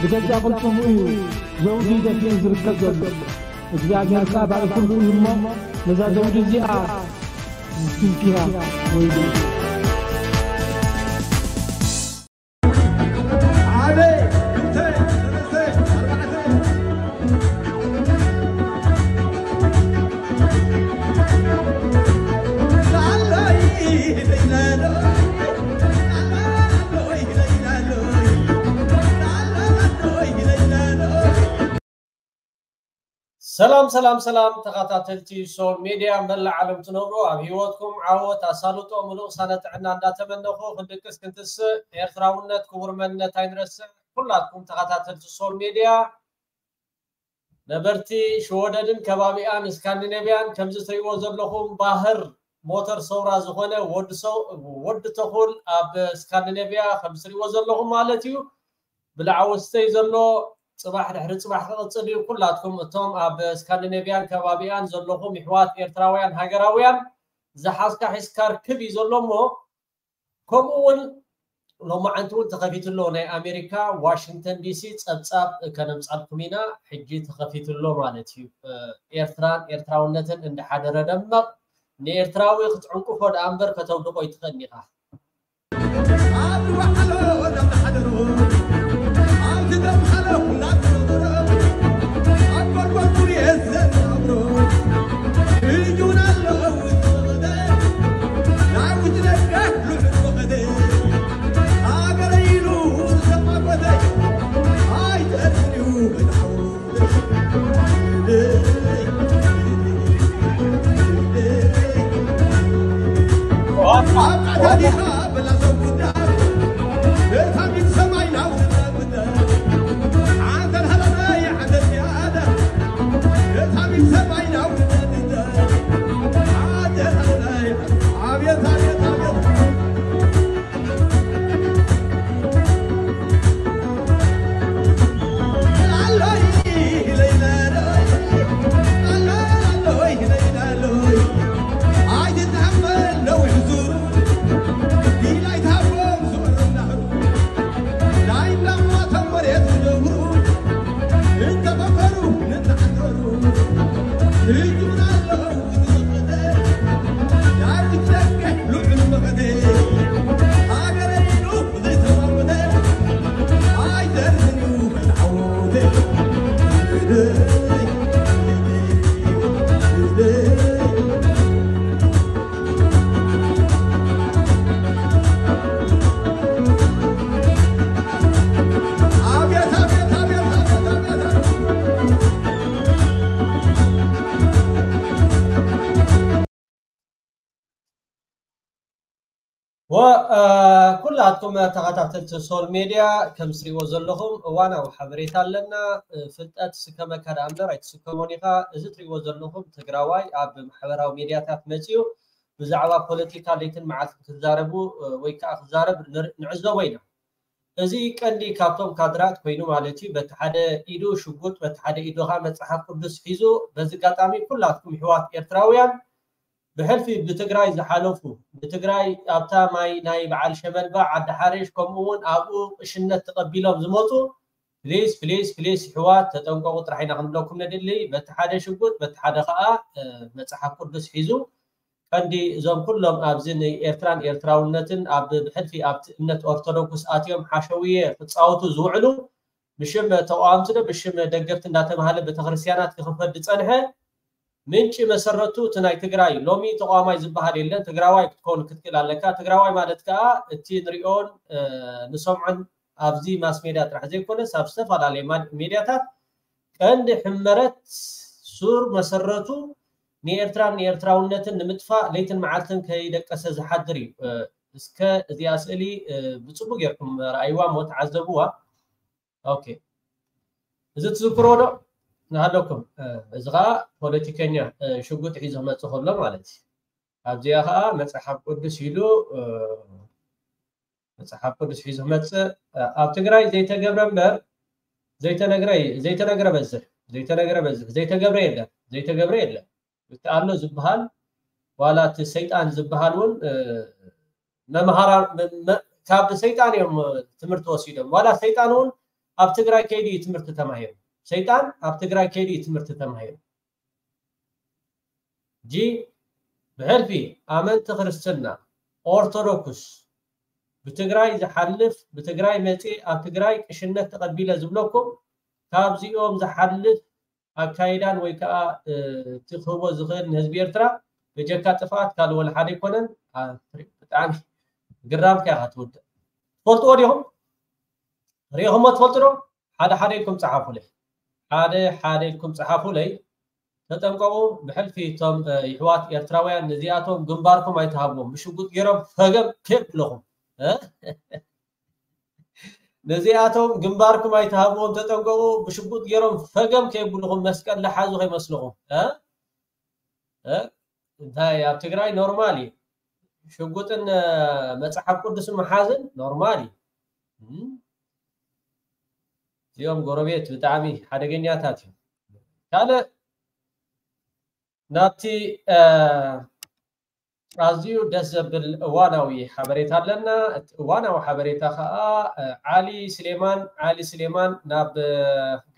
ብገዛእ ቅልጽሙ እዩ ዘውዲ ደፊኡ ዝርከብ ዘሎ። እግዚኣብሔር ከኣ ባዕሉ ኩሉ እዩ እሞ፣ ነዛ ዘውዲ እዚኣ ዝትንክያ ወይኒ። ሓደ፣ ክልተ፣ ሰለስተ፣ ኣርባዕተ። ሰላም ሰላም ሰላም፣ ተኸታተልቲ ሶል ሜድያ መላእ ዓለም ትነብሩ፣ ኣብ ህይወትኩም ዓወት ኣሳልጦ፣ ምሉእ ቅሳነ ጥዕና እንዳተመነኹ፣ ክንድቅስ ክንትስእ፣ ኤርትራውነት ክቡር መንነት ኣይንረስዕ። ኩላትኩም ተኸታተልቲ ሶል ሜድያ፣ ነበርቲ ሽወደንን ከባቢኣን፣ ስካንዲኔቭያን፣ ከምዚ ትርእይዎ ዘለኹም ባህር ሞተር ሰውራ ዝኾነ ወዲ ሰው-፣ ወዲ ተኹል ኣብ ስካንዲኔቭያ ከምዚ ትርእይዎ ዘለኹም ማለት እዩ። ብልዓ ወስተይ ዘሎ ጽባሕ ድሕሪ ጽባሕ ክቕጽል እዩ። ኩላትኩም እቶም ኣብ ስካንዲኔቭያን ከባቢኣን ዘለኹም ይሕዋት ኤርትራውያን ሃገራውያን፣ ዝሓዝካ ሒዝካ ርክብ እዩ ዘሎ እሞ፣ ከምኡ እውን ሎማዓንቲ እውን ተኸፊቱ ኣሎ። ናይ ኣሜሪካ ዋሽንግተን ዲሲ ጸብጻብ ከነምጻልኩም ኢና። ሕጂ ተኸፊቱ ኣሎ ማለት እዩ። እ፣ ኤርትራን ኤርትራውነትን እንዳሓደረ ደመቕ። ንኤርትራዊ ክትዕንቅፎ ደኣ እምበር ከተውድቖ ኣይትኽእልን ኢኻ። ኣብ ዝወዓሎ እናተሓደሮ፣ ኣብ ዝደምሓሎ እናተነገሮ፣ ኣብ ጎልጎል ኩርየት ዘናብሮ፣ እዩን ኣለዉ ዝፈቐደ፣ ናይ ውጭ ደገ ልዑል ፈቐደ፣ ሃገረ ኢሉ ዝተማጎተ፣ ኣይተርፍን እዩ መድሓው። ወ-፣ እ፣ ኩላትኩም ተኸታተልቲ ሶል ሜድያ ከም ትሪእዎ ዘለኹም እዋናዊ ሓበሬታ ኣለና። እ፣ ፍልጠት ስከመካ ደኣ እምበር ኣይትስከሞን ኢኻ። እዚ ትሪእዎ ዘለኹም ትግራዋይ ኣብ ማሕበራዊ ሜድያታት መፂኡ ብዛዕባ ፖለቲካ ለይትን መዓልትን ክዛረቡ፣ እ፣ ወይ ከዓ ክዛረብ ንር-፣ ንዕዘቦ ኢና። እዚ ቀንዲ ካብቶም ካድራት ኮይኑ ማለት እዩ። በቲ ሓደ ኢዱ ሽጉጥ፣ በቲ ሓደ ኢዱ ከዓ መፅሓፍ ቅዱስ ሒዙ፣ በዚ ኣጋጣሚ ኩላትኩም ኣሕዋት ኤርትራውያን ብሕልፊ ብትግራይ ዝሓለፉ፣ ብትግራይ ኣብታ ማይ ናይ በዓል ሸመልባ፣ ዓዲ ሓሬሽ፣ ከምኡ እውን ኣብኡ ቅሽነት ተቐቢሎም ዝመፁ፣ ፕሊስ፣ ፕሊስ፣ ፕሊስ፣ ኣሕዋት ተጠንቀቑ ጥራሕ ኢና ክንብለኩም ንድሊ። በቲ ሓደ ሽጉጥ፣ በቲ ሓደ ከዓ፣ እ፣ መፅሓፍ ቅዱስ ሒዙ፣ ቀንዲ እዞም ኩሎም ኣብዚ ንኤርትራን ኤርትራውነትን ኣብ ብሕልፊ ኣብቲ እምነት ኦርቶዶክስ ኣትዮም ሓሸውየ ክፃወቱ ዝውዕሉ፣ ብሽም ተቃወምቲ ዶ ብሽም ደገፍቲ እንዳተባሃለ ቤተክርስትያናት ክኽፈት ዝጸንሐ፣ ምንጪ መሰረቱ እቲ ናይ ትግራይ፣ ሎሚ ተቃዋማይ ዝበሃል የለን። ትግራዋይ ክትከውን ክትክእል ኣለካ። ትግራዋይ ማለት ከዓ እቲ ንሪኦን፣ እ፣ ንሰምዖን ኣብዚ ማስ ሜድያ ጥራሕ ዘይኮነስ ኣብ ዝተፈላለየ ማ-፣ ሜድያታት ቀንዲ ሕመረት ሱር መሰረቱ ንኤርትራን ንኤርትራውነትን ንምጥፋእ ለይትን መዓልትን ከይደቀሰ ዝሓድር እዩ። እ፣ እስከ እዚኣ ስእሊ፣ እ፣ ብጽቡቅ ጌርኩም ረኣይዋ እሞ ተዓዘብዋ። ኦኬ። እዚ ትዝክርዎ ዶ? ንሃለኩም። እ፣ እዚ ኸኣ ፖለቲከኛ፣ እ፣ ሽጉጥ ሒዙ ክመጽእ ከሎ ማለት እዩ። ኣብዚኣ ኸኣ መጽሓፍ ቅዱስ ኢሉ፣ እ፣ መጽሓፍ ቅዱስ ሒዙ ክመጽእ፣ እ፣ ኣብ ትግራይ ዘይተገብረ እምበር ዘይተነግረ፣ ዘይተነግረ በዝሕ፣ ዘይተነግረ በዝሕ፣ ዘይተገብረ የለን፣ ዘይተገብረ የለን። እቲ ኣሎ ዝበሃል ዋላ እቲ ሰይጣን ዝበሃል እውን፣ እ፣ መምሃራ-፣ መ-፣ መ-፣ ካብ ሰይጣን እዮም ትምህርቲ ወሲዶም። ዋላ ሰይጣን እውን ኣብ ትግራይ ከይዱ እዩ ትምህርቲ ተማሂሩ። ሰይጣን ኣብ ትግራይ ከይዱ እዩ ትምህርቲ ተማሂሩ። ጂ ብሕልፊ ኣመንቲ ክርስትና ኦርቶዶክስ ብትግራይ ዝሓልፍ፣ ብትግራይ መፂ፣ ኣብ ትግራይ ቅሽነት ተቐቢለ ዝብለኩም ካብዚኦም ዝሓልፍ ኣካይዳን ወይ ከዓ እቲ ክህቦ ዝኽእል ንህዝቢ ኤርትራ በጀካ ጥፍኣት ካልእ ወላ ሓደ ኣይኮነን። ብጣዕሚ ግራምካ ኢኻ ትውድእ። ትፈልጥዎ ዲኹም? ሪኢኹሞ ትፈልጡ ዶ? ሓደ ሓደ ኢልኩም ጸሓፉለይ። ሓደ ሓደ ኢልኩም ጸሓፉለይ። ተጠንቀቑ። ብሕልፊ እቶም ይሕዋት ኤርትራውያን ነዚኣቶም ግንባርኩም ኣይትሃብዎም። ብሽጉጥ ገይሮም ፈገም ከየብልኹም። ነዚኣቶም ግንባርኩም ኣይትሃብዎም፣ ተጠንቀቑ። ብሽጉጥ ገይሮም ፈገም ከየብልኹም፣ መስቀል ለሓዙ ከይመስልኹም። እንታይ ኣብ ትግራይ ኖርማል እዩ። ሽጉጥን መጽሓፍ ቅዱስን መሓዝን ኖርማል እዩ። እዚኦም ጎረቤት ብጣዕሚ ሓደገኛታት እዮም። ካልእ ናብቲ ኣዝዩ ደስ ዘብል እዋናዊ ሓበሬታ ኣለና። እቲ እዋናዊ ሓበሬታ ከዓ ዓሊ ስሌማን፣ ዓሊ ስሌማን ናብ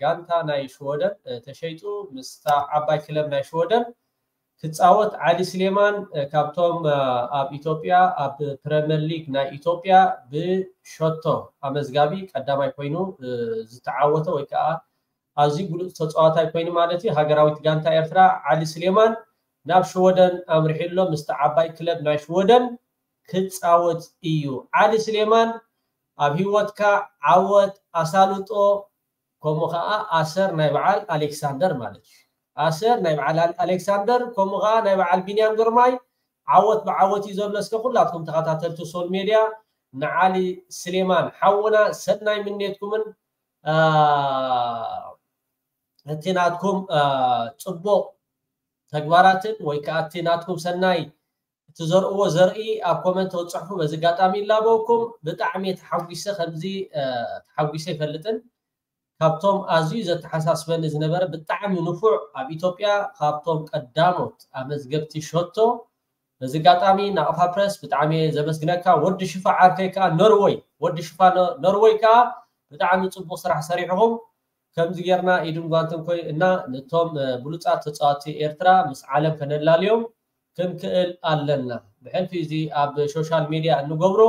ጋንታ ናይ ሽወደን ተሸይጡ፣ ምስታ ዓባይ ክለብ ናይ ሽወደን ክፃወት። ዓሊ ስሌማን ካብቶም ኣብ ኢትዮጵያ ኣብ ፕረምየር ሊግ ናይ ኢትዮጵያ ብሸቶ ኣመዝጋቢ ቀዳማይ ኮይኑ ዝተዓወተ ወይ ከዓ ኣዝዩ ብሉፅ ተፃዋታይ ኮይኑ ማለት እዩ። ሃገራዊት ጋንታ ኤርትራ ዓሊ ስሌማን ናብ ሽወደን ኣምሪሑ ኣሎ። ምስቲ ዓባይ ክለብ ናይ ሽወደን ክፃወት እዩ። ዓሊ ስሌማን ኣብ ህይወትካ ዓወት ኣሳልጦ፣ ከምኡ ከዓ ኣሰር ናይ በዓል ኣሌክሳንደር ማለት እዩ። ኣሰር ናይ በዓል ኣሌክሳንደር፣ ከምኡ ከዓ ናይ በዓል ቢንያም ግርማይ ዓወት ብዓወት እዩ ዘሎ። እስከ ኩላትኩም ተኸታተልቲ ሶል ሜድያ ንዓሊ ስሌማን ሓውና ሰናይ ምንየትኩምን እቲ ናትኩም ፅቡቕ ተግባራትን ወይ ከዓ እቲ ናትኩም ሰናይ እትዘርእዎ ዘርኢ ኣብ ኮመንት ክትፅሕፉ በዚ ኣጋጣሚ ይላበወኩም። ብጣዕሚ ተሓጒሰ፣ ከምዚ ተሓጒሰ ይፈልጥን። ካብቶም ኣዝዩ ዘተሓሳስበኒ ዝነበረ ብጣዕሚ ንፉዕ ኣብ ኢትዮጵያ ካብቶም ቀዳሞት ኣመዝገብቲ ሸቶ በዚ ኣጋጣሚ ናቕፋ ፕረስ ብጣዕሚ እየ ዘመስግነካ። ወዲ ሽፋ ዓርከይ ከዓ ኖርወይ፣ ወዲ ሽፋ ኖርወይ ከዓ ብጣዕሚ ፅቡቕ ስራሕ ሰሪሕኹም። ከምዚ ጌርና ኢድን ጓንትን ኮይና ነቶም ብሉፃት ተፃወትቲ ኤርትራ ምስ ዓለም ከነላልዮም ክንክእል ኣለና። ብሕልፊ እዚ ኣብ ሶሻል ሚድያ እንገብሮ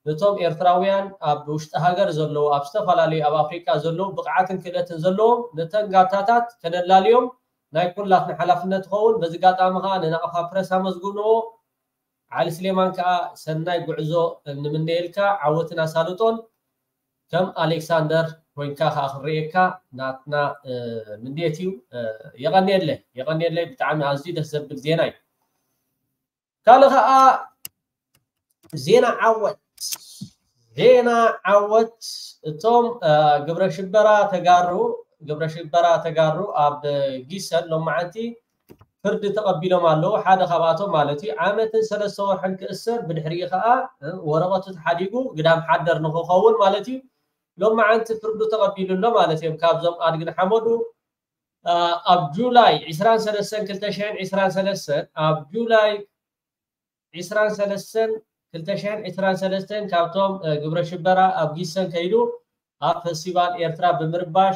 ነቶም ኤርትራውያን ኣብ ውሽጢ ሃገር ዘለዉ፣ ኣብ ዝተፈላለዩ ኣብ ኣፍሪቃ ዘለዉ ብቕዓትን ክእለትን ዘለዎም ነተን ጋንታታት ከነላልዮም ናይ ኩላትና ሓላፍነት ይኸውን። በዚ ኣጋጣሚ ከዓ ንናቕፋ ፕረስ ኣመስግንዎ። ዓሊ ስሌማን ከዓ ሰናይ ጉዕዞ ንምነየልካ፣ ዓወትን ኣሳልጦን ከም ኣሌክሳንደር ኮይንካ ከዓ ክንርእየካ ናትና ምንየት እዩ። የቐንየለይ፣ የቐንየለይ። ብጣዕሚ ኣዝዩ ደስ ዘብል ዜና እዩ። ካልእ ከዓ ዜና ዓወት፣ ዜና ዓወት። እቶም ግብረ ሽበራ ተጋሩ፣ ግብረ ሽበራ ተጋሩ ኣብ ጊሰን ሎማዓንቲ ፍርዲ ተቐቢሎም ኣለዉ። ሓደ ካብኣቶም ማለት እዩ ዓመትን ሰለስተ ወርሕን ክእሰር፣ ብድሕሪኡ ከዓ ወረቐቱ ተሓዲጉ ግዳም ሓደር ንክኸውን ማለት እዩ። ሎማዓንቲ ፍርዱ ተቐቢሉ ኣሎ ማለት እዮም። ካብዞም ኣድግን ሓመዱ ኣብ ጁላይ ዕስራን ሰለስተን ክልተ ሽሕን ዕስራን ሰለስተን፣ ኣብ ጁላይ ዕስራን ሰለስተን ክልተ ሽሕን ዕስራን ሰለስተን ካብቶም ግብረ ሽበራ ኣብ ጊሰን ከይዱ ኣብ ፈስቲቫል ኤርትራ ብምርባሽ፣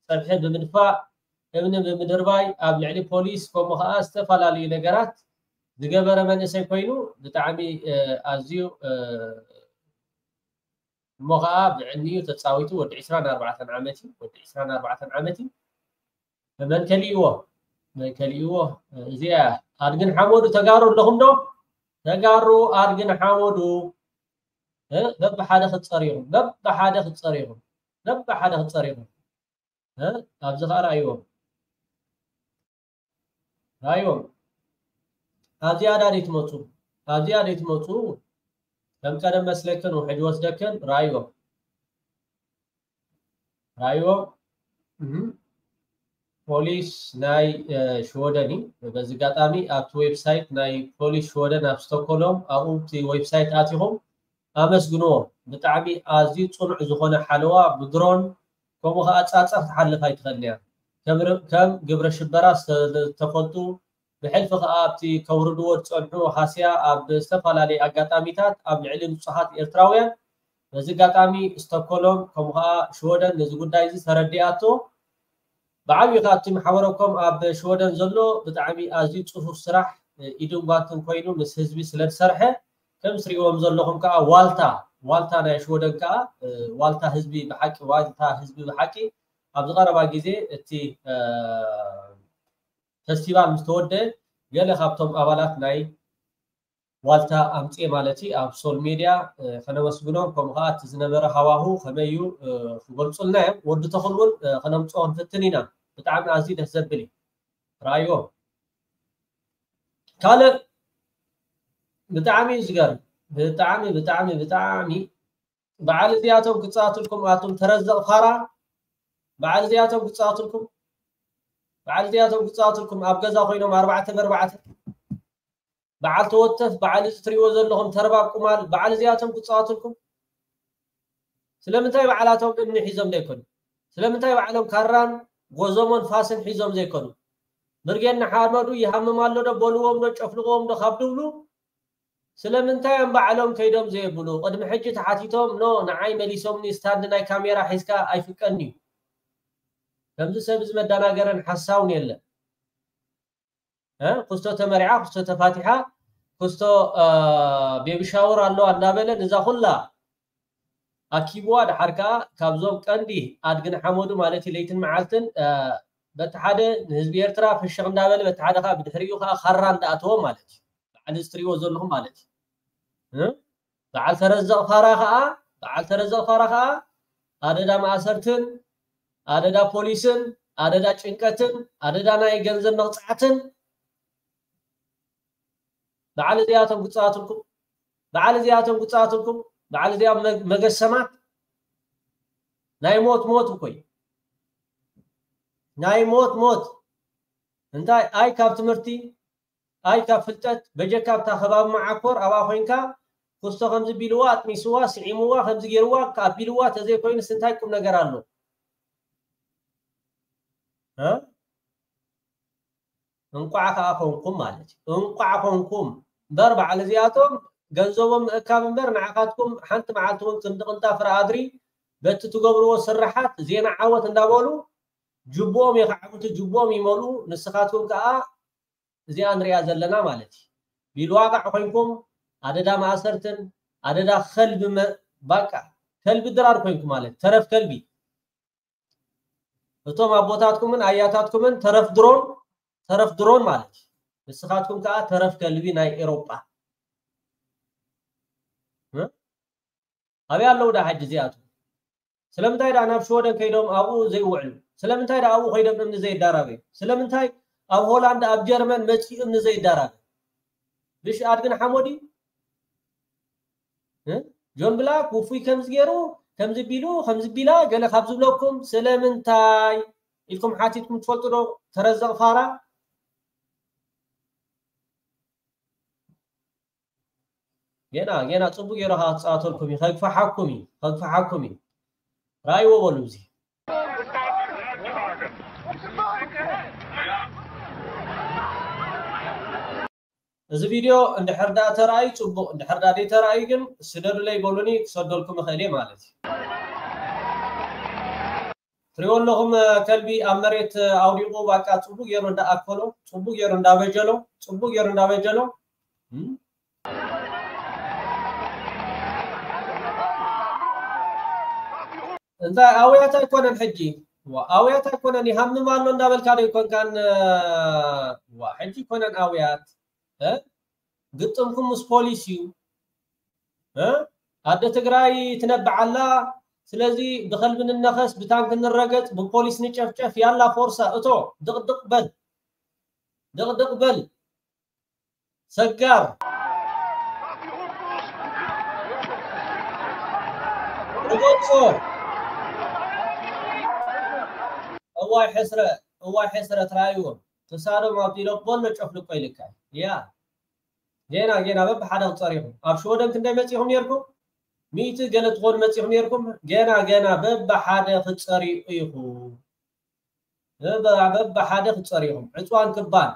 ፀብሒ ብምድፋእ፣ እምኒ ብምድርባይ፣ ኣብ ልዕሊ ፖሊስ ከምኡ ከዓ ዝተፈላለዩ ነገራት ዝገበረ መንእሰይ ኮይኑ ብጣዕሚ ኣዝዩ እሞ ከዓ ብዕኒኡ ተፃዊቱ ወዲ ዕስራን ኣርባዕተን ዓመት እዩ። ወዲ ዕስራን ኣርባዕተን ዓመት እዩ። መን ከሊእዎ? መን ከሊእዎ? እዚኣ ኣድግን ሓመዱ ተጋሩ ኣለኹም ዶ? ተጋሩ ኣድግን ሓመዱ በብሓደ ክትፀርዩኹም፣ በብሓደ ክትፀርዩኹም፣ በብሓደ ክትፀርዩኹም። ኣብዚ ከዓ ርኣይዎም፣ ርኣይዎም። ኣብዚኣ ዳ ደይትመፁ፣ ኣብዚኣ ደይትመፁ። ከም ቀደም መስለክን ውሕጅ ወስደክን። ርኣይዎም፣ ርኣይዎም። ፖሊስ ናይ ሽወደን እዩ። በዚ ኣጋጣሚ ኣብቲ ዌብሳይት ናይ ፖሊስ ሽወደን ኣብ ስቶኮሎም፣ ኣብኡ እቲ ዌብሳይት ኣቲኹም ኣመስግንዎ። ብጣዕሚ ኣዝዩ ፅኑዕ ዝኾነ ሓለዋ ብድሮን ከምኡ ከዓ ፃፀር ትሓልፍ ኣይትኽእልን እያ። ከም ግብረ ሽበራ ዝተፈልጡ ብሕልፊ ከዓ ኣብቲ ከውርድዎ ዝፀንሑ ሃስያ ኣብ ዝተፈላለዩ ኣጋጣሚታት ኣብ ልዕሊ ንፁሃት ኤርትራውያን በዚ ኣጋጣሚ ስቶኮሎም ከምኡ ከዓ ሽወደን ነዚ ጉዳይ እዚ ተረዲኣቶ ብዓብዩ ካብቲ ማሕበረኮም ኣብ ሽወደን ዘሎ ብጣዕሚ ኣዝዩ ፅፉፍ ስራሕ ኢዱን ጓንትን ኮይኑ ምስ ህዝቢ ስለ ዝሰርሐ ከም ትሪእዎም ዘለኹም ከዓ ዋልታ ዋልታ ናይ ሽወደን ከዓ ዋልታ ህዝቢ ብሓቂ ዋልታ ህዝቢ ብሓቂ ኣብዚ ቀረባ ግዜ እቲ ፈስቲቫል ምስ ተወደአ ገለ ካብቶም ኣባላት ናይ ዋልታ ኣምፅኤ ማለት እዩ ኣብ ሶል ሜድያ ከነመስግኖም ከምኡ ከዓ እቲ ዝነበረ ሃዋሁ ከመይ እዩ ክገልፁልና እዮም ወዲ ተኽል እውን ከነምፅኦ ክንፍትን ኢና ብጣዕሚ ኣዝዩ ደስ ዘብል እዩ ረኣይዎ ካልእ ብጣዕሚ እዩ ዝገርም ብጣዕሚ ብጣዕሚ ብጣዕሚ በዓል እዚኣቶም ክፃወትልኩም ኣቱም ተረዘቕ ፋራ በዓል እዚኣቶም ክፃወትልኩም በዓል እዚኣቶም ክፃወትልኩም ኣብ ገዛ ኮይኖም ኣርባዕተ በርባዕተ በዓል ተወተፍ በዓል እዚ ትሪእዎ ዘለኹም ተርባብ ቁማል በዓል እዚኣቶም ክፃወትልኩም ስለምንታይ በዓላቶም እምኒ ሒዞም ዘይኮኑ ስለምንታይ በዓሎም ካራን ጎዞሞን ፋስን ሒዞም ዘይኮኑ ብርጌድ ንሓመዱ ይሃምም ኣሎ ዶ በልዎም ዶ ጨፍልቕዎም ዶ ካብ ድብሉ ስለምንታይ እዮም ባዕሎም ከይዶም ዘየብሉ ቅድሚ ሕጂ ተሓቲቶም ኖ ንዓይ መሊሶምኒ ስታንድ ናይ ካሜራ ሒዝካ ኣይፍቀድን እዩ ከምዚ ሰብ እዚ መደናገርን ሓሳውን የለን ኩስቶ ተመሪዓ ኩስቶ ተፋቲሓ ኩስቶ ቤቢ ሻወር ኣለዋ እናበለ ንዛ ኩላ ኣኪብዋ ድሓር ከዓ ካብዞም ቀንዲ ኣድግን ሓመዱ ማለት እዩ ለይትን መዓልትን በቲ ሓደ ንህዝቢ ኤርትራ ፍሽኽ እንዳበለ በቲ ሓደ ከዓ ብድሕሪኡ ከዓ ካራ እንዳኣተዎ ማለት እዩ በዓል እዚ ትሪእዎ ዘለኹም ማለት እዩ በዓል ተረዘቕ ፋራ ከዓ በዓል ተረዘቕ ፋራ ከዓ ኣደዳ ማእሰርትን ኣደዳ ፖሊስን ኣደዳ ጭንቀትን ኣደዳ ናይ ገንዘብ መቕፃዕትን በዓል እዚኣቶም ክፃወትልኩም በዓል እዚኣቶም ክፃወትልኩም በዓል እዚኣ መገሰማት ናይ ሞት ሞት እኮ ናይ ሞት ሞት እንታይ ኣይ ካብ ትምህርቲ ኣይ ካብ ፍልጠት በጀካ ኣብታ ከባቢ መዓኮር ኣብኣ ኮይንካ ኩስቶ ከምዚ ቢልዋ ኣጥሚስዋ ስዒምዋ ከምዚ ገይርዋ ኣቢልዋ ተዘይኮይኑስ እንታይ ቁም ነገር ኣሎ እንቋዕ ከዓ ኮንኩም ማለት እዩ እንቋዕ ኮንኩም እምበር በዓል እዚኣቶም ገንዘቦም ምእካብ እምበር ንዓኻትኩም ሓንቲ መዓልቲ እውን ክንዲ ቅንጣ ፍረ ኣድሪ በቲ ትገብርዎ ስራሓት ዜና ዓወት እንዳበሉ ጅቦኦም የኽዓብቱ ጅቦኦም ይመልኡ ንስኻትኩም ከዓ እዚኣ ንሪኣ ዘለና ማለት እዩ ቢልዋቃዕ ኮይንኩም ኣደዳ ማእሰርትን ኣደዳ ከልቢ ባቃ ከልቢ ድራር ኮይንኩም ማለት ተረፍ ከልቢ እቶም ኣቦታትኩምን ኣያታትኩምን ተረፍ ድሮን ተረፍ ድሮን ማለት እዩ ንስኻትኩም ከዓ ተረፍ ከልቢ ናይ ኤሮጳ ኣበይ ኣለዉ ዳ ሕጂ እዚኣቶም ስለምንታይ ዳ ናብ ሽወደን ከይዶም ኣብኡ ዘይውዕሉ ስለምንታይ ዳ ኣብኡ ከይዶም እምኒ ዘይዳራበዩ ስለምንታይ ኣብ ሆላንድ ኣብ ጀርመን መፂኡ እምኒ ዘይዳራበ ብሽ ኣድግን ሓሞዲ ጆን ብላክ ውፉይ ከምዚ ገይሩ ከምዚ ቢሉ ከምዚ ቢላ ገለ ካብ ዝብለኩም ስለምንታይ ኢልኩም ሓቲትኩም ትፈልጡ ዶ ተረዘቕ ፋራ ገና ገና ፅቡቅ ገይሩ ከዓ ክፃወተልኩም እዩ ከግፋሓኩም እዩ ከግፋሓኩም እዩ ራእይዎ በሉ እዚ እዚ ቪድዮ እንድሕር ዳ ተራእዩ ፅቡቅ እንድሕር ዳ ተራእዩ ግን ስደዱለይ በሉኒ ክሰደልኩም እኽእል እየ ማለት እዩ ትሪኦ ኣለኹም ከልቢ ኣብ መሬት ኣውዲቑ ባቃ ፅቡቅ ገይሩ እንዳኣከሎ ፅቡቅ ገይሩ እንዳበጀሎ ፅቡቅ ገይሩ እንዳበጀሎ እንታይ ኣውያት ኣይኮነን ሕጂ ኣውያት ኣይኮነን ይሃምም ኣሎ እንዳበልካ ዶ ይኮንካን ዋ ሕጂ ኮነን ኣውያት ግጥምኩም ምስ ፖሊስ እዩ ኣደ ትግራይ ትነብዓላ ስለዚ ብከልቢ ንነኸስ ብታንክ ንረገፅ ብፖሊስ ንጨፍጨፍ ያላ ፎርሳ እቶ ድቕድቕ በል ድቕድቕ በል ሰጋር ርገፆ እዋይ ሕስረ እዋይ ሕስረ ትራይዎም ተሳዶም ኣብዲሎ ቦሎ ጨፍልቆ ኢልካ ያ ጌና ጌና በብሓደ ክፀሪኹም ኣብ ሽወደን ክንደይ መፂኹም ነርኩም ሚእቲ ገለ ትኾኑ መፂኹም ነርኩም ጌና ጌና በብሓደ ክፀሪኡ ኢኹም በብሓደ ክፀሪኹም ዕፅዋን ክባን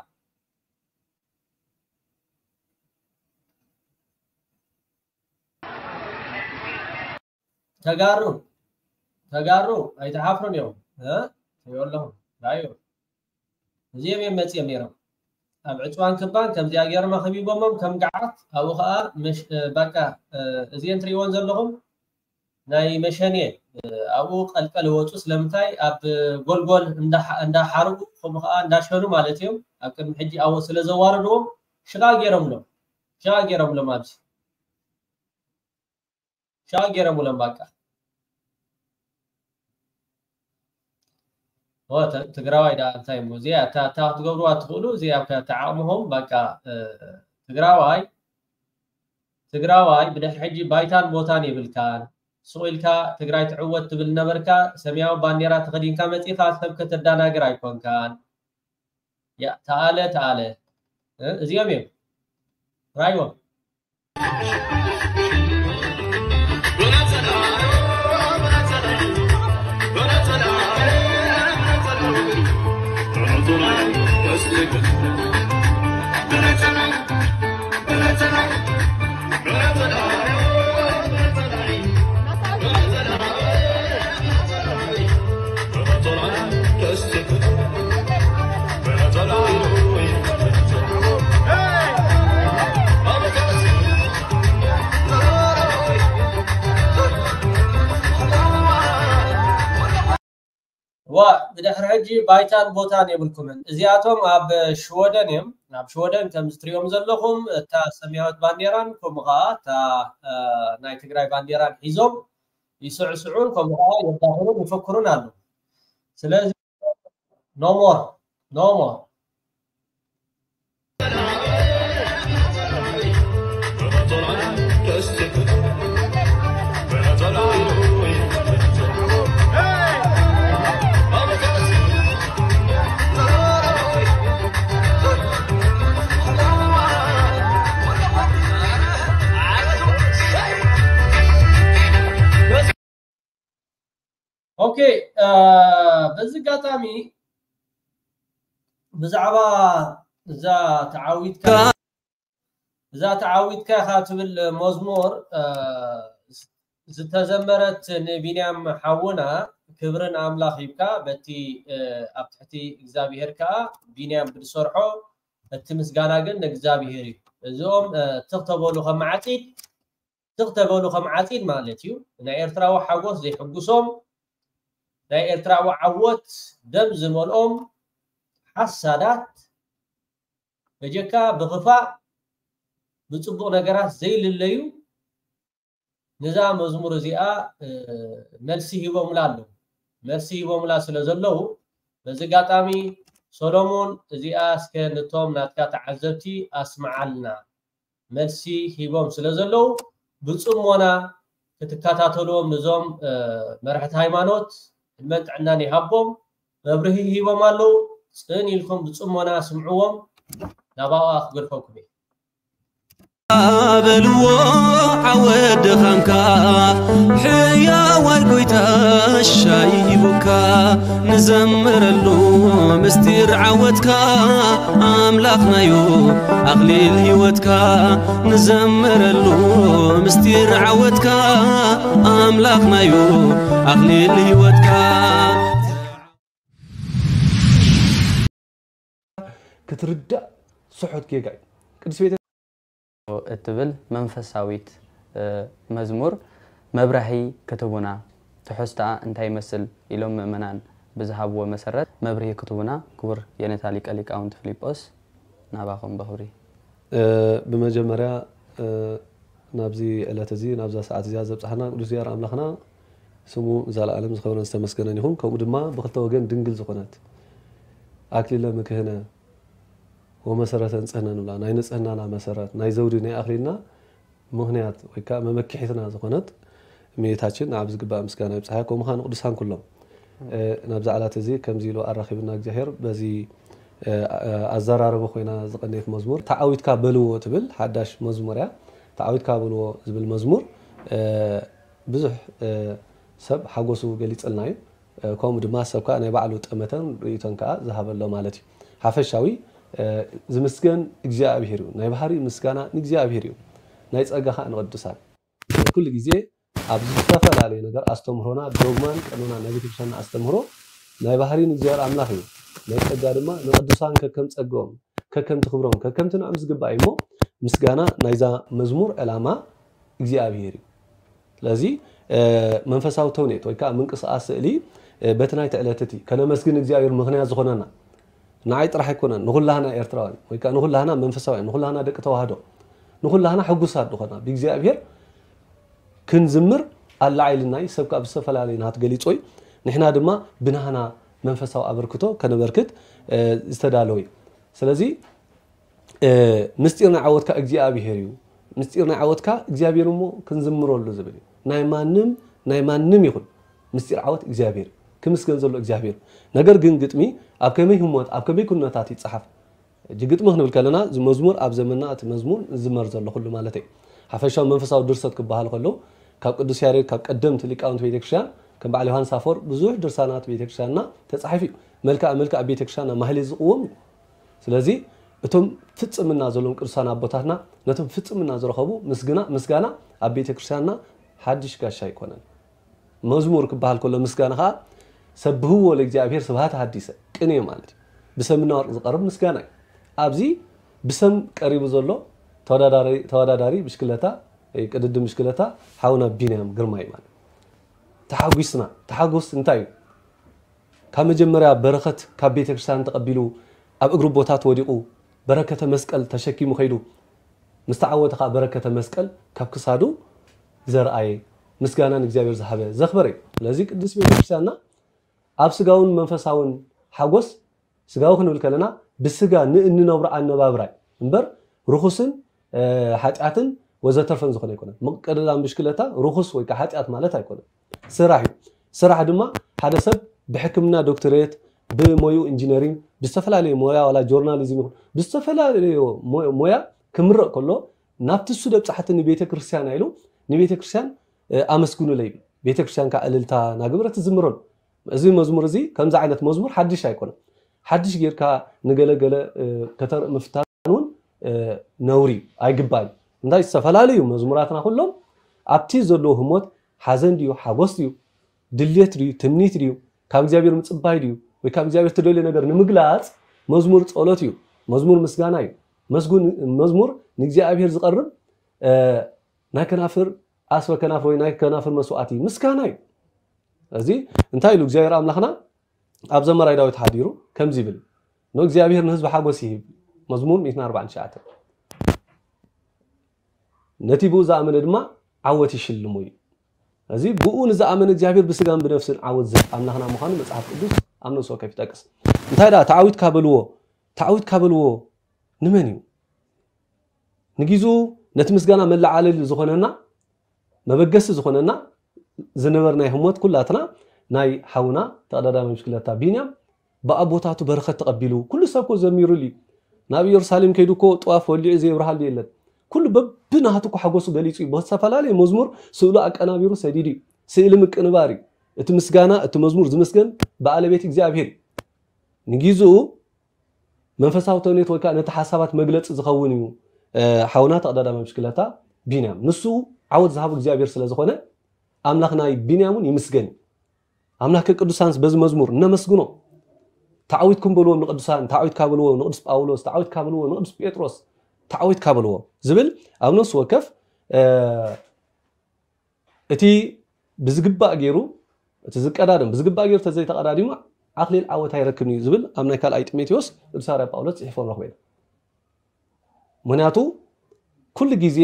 ተጋሩ ተጋሩ ኣይተሓፍሩን እዮም። ትሪኦ ኣለኹም ራዩ እዚኦም እዮም መፂኦም ነይሮም ኣብ ዕፅዋን ክባን ከምዚኣ ገይሮም ኣኸቢቦሞም ከም ገዓት ኣብኡ ከዓ በቃ እዚአን ትሪእዎን ዘለኹም ናይ መሸኔ ኣብኡ ቀልቀል ወፁ ስለምንታይ ኣብ ጎልጎል እንዳሓርቁ ከምኡ ከዓ እንዳሸኑ ማለት እዮም ኣብ ቅድሚ ሕጂ ኣብኡ ስለዘዋረድዎም ሽቃ ገይሮምሎም ሽቃ ገይሮምሎም ኣብዚ ሽቃ ገይሮምሎም በቃ ትግራዋይ ዳ እንታይ እሞ እዚኣ እታ ክትገብርዋ ትኽእሉ እዚኣ ተዓቕምኹም በቃ ትግራዋይ ትግራዋይ ብድሕሪ ሕጂ ባይታን ቦታን የብልካን ሱቕ ኢልካ ትግራይ ትዕወት ትብል ነበርካ ሰማያዊ ባንዴራ ተኸዲንካ መፂኻ ሰብ ከተዳናግር ኣይኮንካን ያ ተኣለ ተኣለ እዚኦም እዮም ራይዎም ዋ ብድሕሪ ሕጂ ባይታን ቦታን የብልኩምን እዚኣቶም ኣብ ሽወደን እዮም ኣብ ሽወደን ከም ዝትሪኦም ዘለኹም እታ ሰማያዊት ባንዴራን ከምኡ ከዓ እታ ናይ ትግራይ ባንዴራን ሒዞም ይስዕስዑን ከምኡ ከዓ የዳኽሩን ይፈክሩን ኣለዉ ስለዚ no more no more ኦኬ በዚ ኣጋጣሚ ብዛዕባ እዛ ተዓዊትካ እዛ ተዓዊትካ ኢኻ ትብል መዝሙር ዝተዘመረት ንቢንያም ሓውና ክብርን ኣምላኽ ሂብካ በቲ ኣብ ትሕቲ እግዚኣብሄር ከዓ ቢንያም ብዝሰርሖ እቲ ምስጋና ግን ንእግዚኣብሄር እዩ እዚኦም ትኽተበሉ ከም ዓፂድ ትኽተበሉ ከም ዓፂድ ማለት እዩ ናይ ኤርትራዊ ሓጎስ ዘይሕጉሶም ናይ ኤርትራዊ ዓወት ደም ዝመልኦም ሓሳዳት በጀካ ብኽፋእ ብፅቡቕ ነገራት ዘይልለዩ ነዛ መዝሙር እዚኣ መልሲ ሂቦምላ ኣለዉ መልሲ ሂቦምላ ስለ ዘለዉ በዚ ኣጋጣሚ ሰሎሞን እዚኣ እስከ ነቶም ናትካ ተዓዘብቲ ኣስምዓልና መልሲ ሂቦም ስለ ዘለዉ ብፅሞና ክትከታተልዎም ንዞም መራሕቲ ሃይማኖት ዕድመን ጥዕናን ይሃቦም መብርሂ ሂቦም ኣለዉ ፅን ኢልኩም ብፅሞና ስምዕዎም ናባኣ ክገድፈኩም እየ በልዎ ዓወት ድኻምካ ሕያዋይ ጎይታ ሻይ ሂቡካ ንዘምረሉ ምስጢር ዓወትካ ኣምላኽናዩ ኣኽሊል ህይወትካ ንዘምረሉ ምስጢር ዓወትካ ኣምላኽናዩ ኣኽሊል ህይወትካ ክትርዳእ ስሑት ጌጋ እዩ። ቅድስት ቤተ እትብል መንፈሳዊት መዝሙር መብራህይ ክትህቡና፣ ትሕዝቶኣ እንታይ ይመስል ኢሎም ምእመናን ብዝሃብዎ መሰረት መብርሂ ክትህቡና ክቡር የኔታ ሊቀ ሊቃውንት ፊሊጶስ ናባኹም በኽብሪ። ብመጀመርያ ናብዚ ዕለት እዚ ናብዛ ሰዓት እዚኣ ዘብፅሓና ቅዱስ እግዚኣብሔር ኣምላኽና ስሙ ንዘለኣለም ዝኸበረን ዝተመስገነን ይኹን። ከምኡ ድማ ብኽልተ ወገን ድንግል ዝኾነት ኣክሊለ ምክህነ ወመሰረተ ንጽህና ንብላ ናይ ንጽህናና መሰረት ናይ ዘውዲ ናይ ኣኽሊልና ምኽንያት ወይ ከዓ መመክሒትና ዝኾነት እመቤታችን ንዓብ ዝግባእ ምስጋና ይብጽሓ። ከምኡ ኸዓ ንቅዱሳን ኩሎም ናብዚ ዕለት እዚ ከምዚ ኢሉ ኣራኺብና እግዚኣብሔር በዚ ኣዘራርባ ኮይና ዝቐነየት መዝሙር ተዓዊትካ በልዎ ትብል ሓዳሽ መዝሙር እያ። ተዓዊትካ በልዎ ዝብል መዝሙር ብዙሕ ሰብ ሓጎሱ ገሊጽልና እዩ። ከምኡ ድማ ሰብ ከዓ ናይ ባዕሉ ጠመተን ርእይቶን ከዓ ዝሃበሎ ማለት እዩ። ሓፈሻዊ ዝምስገን እግዚኣብሔር እዩ። ናይ ባህሪ ምስጋና ንእግዚኣብሔር እዩ። ናይ ጸጋ ከዓ ንቅዱሳን። ኩሉ ግዜ ኣብዚ ዝተፈላለዩ ነገር ኣስተምህሮና፣ ዶግማን ቀኖና ናይ ቤተክርስትያንና ኣስተምህሮ ናይ ባህሪ ንእግዚኣብሔር ኣምላኽ እዩ። ናይ ጸጋ ድማ ንቅዱሳን ከከም ጸግኦም፣ ከከምቲ ክብሮም፣ ከከምቲ ንዕም ዝግባእ እዩ እሞ፣ ምስጋና ናይዛ መዝሙር ዕላማ እግዚኣብሔር እዩ። ስለዚ መንፈሳዊ ተውኔት ወይ ከዓ ምንቅስቃስ ስእሊ በቲ ናይቲ ዕለት እቲ ከነመስግን እግዚኣብሔር ምክንያት ዝኾነና ንዓይ ጥራሕ ኣይኮነን፣ ንኩላህና ኤርትራውያን ወይ ከዓ ንኩላህና መንፈሳውያን፣ ንኩላህና ደቂ ተዋህዶ፣ ንኩላህና ሕጉሳት ዝኾና ብእግዚኣብሔር ክንዝምር ኣለዓይልና እዩ። ሰብ ካብ ዝተፈላለዩ ናት ገሊጾ እዩ። ንሕና ድማ ብናህና መንፈሳዊ ኣበርክቶ ከነበርክት ዝተዳለወ እዩ። ስለዚ ምስጢር ናይ ዓወትካ እግዚኣብሔር እዩ። ምስጢር ናይ ዓወትካ እግዚኣብሔር እሞ ክንዝምረሉ ዝብል እዩ። ናይ ማንም ናይ ማንም ይኹን ምስጢር ዓወት እግዚኣብሔር እዩ። ክምስገን ዘሎ እግዚኣብሔር እዩ። ነገር ግን ግጥሚ ኣብ ከመይ ህሞት ኣብ ከመይ ኩነታት ይጸሓፍ? ሕጂ ግጥሚ ክንብል ከለና እዚ መዝሙር ኣብ ዘመንና እቲ መዝሙር ዝዝመር ዘሎ ኩሉ ማለት እዩ። ሓፈሻዊ መንፈሳዊ ድርሰት ክበሃል ከሎ ካብ ቅዱስ ያሬድ ካብ ቀደምቲ ሊቃውንቲ ቤተክርስትያን ከም በዓል ዮሃንስ ኣፈወርቅ ብዙሕ ድርሳናት ቤተክርስትያንና ተጻሒፉ እዩ። መልክዓ መልክዓ ቤተክርስትያንና ማህሌት ዝቕወም እዩ። ስለዚ እቶም ፍጽምና ዘለዎም ቅዱሳን ኣቦታትና ነቶም ፍጽምና ዝረኸቡ ምስግና ምስጋና ኣብ ቤተክርስትያንና ሓድሽ ጋሻ ኣይኮነን። መዝሙር ክበሃል ከሎ ምስጋና ከዓ ሰብህዎ ለእግዚኣብሔር ስብሃት ሐዲሰ ቅኔ ማለት እዩ። ብሰምና ወርቅ ዝቀርብ ምስጋና እዩ። ኣብዚ ብሰም ቀሪቡ ዘሎ ተወዳዳሪ ተወዳዳሪ ብሽክለታ ቅድድም ብሽክለታ ሓውና ቢንያም ግርማይ ማለት ተሓጒስና ተሓጎስ እንታይ እዩ? ካብ መጀመርያ በረኸት ካብ ቤተ ክርስቲያን ተቐቢሉ ኣብ እግሪ ኣቦታት ወዲቑ በረከተ መስቀል ተሸኪሙ ከይዱ ምስ ተዓወተ ከዓ በረከተ መስቀል ካብ ክሳዱ ዘርኣየ ምስጋና ንእግዚኣብሔር ዝሃበ ዘኽበረ እዩ። ስለዚ ቅድስት ቤተ ክርስቲያንና ኣብ ስጋውን መንፈሳውን ሓጎስ ስጋዊ ክንብል ከለና ብስጋ ንእንነብሮ ኣነባብራ እምበር ርኹስን ሓጢኣትን ወዘተርፈን ዝኾነ ኣይኮነን። ምቅድዳም ብሽክለታ ርኹስ ወይ ከዓ ሓጢኣት ማለት ኣይኮነን። ስራሕ እዩ። ስራሕ ድማ ሓደ ሰብ ብሕክምና ዶክተሬት፣ ብሞዩ ኢንጂነሪንግ፣ ብዝተፈላለየ ሞያ ዋላ ጆርናሊዝም ይኹን ብዝተፈላለየ ሞያ ክምረቕ ከሎ ናብቲ እሱ ደብፃሕቲ ንቤተ ክርስቲያን ኢሉ ንቤተ ክርስቲያን ኣመስግኑለይ ይብል። ቤተ ክርስቲያን ከዓ እልልታ ናገበረት ትዝምረሉ። እዚ መዝሙር እዚ ከምዚ ዓይነት መዝሙር ሓድሽ ኣይኮነን። ሓድሽ ጌርካ ንገለገለ ከተርኢ ምፍታን እውን ነውሪ እዩ፣ ኣይግባእን። እንታይ ዝተፈላለዩ መዝሙራትና ኩሎም ኣብቲ ዘለዎ ህሞት ሓዘን ድዩ ሓጎስ ድዩ ድልየት ድዩ ትምኒት ድዩ ካብ እግዚኣብሔር ምፅባይ ድዩ ወይ ካብ እግዚኣብሔር ትደልዮ ነገር ንምግላፅ መዝሙር ፀሎት እዩ፣ መዝሙር ምስጋና እዩ። መዝሙር ንእግዚኣብሔር ዝቐርብ ናይ ከናፍር ኣስበ ከናፍር ወይ ናይ ከናፍር መስዋዕቲ ምስጋና እዩ። እዚ እንታይ ኢሉ እግዚኣብሔር ኣምላኽና ኣብ ዘመራይ ዳዊት ሓዲሩ ከምዚ ይብል፣ ንእግዚኣብሔር ንህዝቢ ሓጎስ ይህብ። መዝሙር ሚእትን ኣርባዕን ትሽዓተን ነቲ ብኡ ዝኣመነ ድማ ዓወት ይሽልሙ እዩ። እዚ ብኡ ንዝኣመነ እግዚኣብሔር ብስጋን ብነፍስን ዓወት ዝህብ ኣምላኽና ምዃኑ መጽሓፍ ቅዱስ ኣብ ነፍሲ ወከፍ ይጠቅስ። እንታይ ደኣ ተዓዊትካ በልዎ፣ ተዓዊትካ በልዎ ንመን እዩ? ንጊዙ ነቲ ምስጋና መለዓለሊ ዝኾነና መበገሲ ዝኾነና ዝነበርናይ ህሞት ኩላትና ናይ ሓውና ተቐዳዳሚ ብሽክለታ ቢንያም ብኣቦታቱ በረኸት ተቐቢሉ ኩሉ ሰብ ኮ ዘሚሩሉ እዩ። ናብ ኢየሩሳሌም ከይዱ እኮ ጥዋፍ ወሊዑ ዘየብርሃሉ የለን። ኩሉ በብናቱ እኮ ሓጎሱ ገሊጹ እዩ። ብዝተፈላለየ መዝሙር ስእሉ ኣቀናቢሩ ሰዲዱ እዩ። ስእሊ ምቅንባር እዩ። እቲ ምስጋና እቲ መዝሙር ዝምስገን ብኣለቤት እግዚኣብሔር እዩ። ንጊዝኡ መንፈሳዊ ተውኔት ወይ ከዓ ነቲ ሓሳባት መግለፂ ዝኸውን እዩ። ሓውና ተቐዳዳሚ ብሽክለታ ቢንያም ንሱ ዓወት ዝሃቡ እግዚኣብሔር ስለ ዝኾነ ኣምላኽ ናይ ቢንያም እውን ይምስገን እዩ። ኣምላክ ቅዱሳንስ በዚ መዝሙር እነመስግኖ። ተዓዊትኩም በልዎም ንቅዱሳን፣ ተዓዊትካ በልዎ ንቅዱስ ጳውሎስ፣ ተዓዊትካ በልዎ ንቅዱስ ጴጥሮስ፣ ተዓዊትካ በልዎ ዝብል ኣብ ነፍሲ ወከፍ እቲ ብዝግባእ ገይሩ እቲ ዝቀዳደም ብዝግባእ ገይሩ ተዘይተቀዳዲሙ ኣክሊል ዓወት ኣይረክብን እዩ ዝብል ኣብ ናይ ካልኣይ ጢሞቴዎስ ቅዱስ ሃዋርያ ጳውሎስ ፅሒፎ ንረኽቦ ኢና። ምክንያቱ ኩሉ ግዜ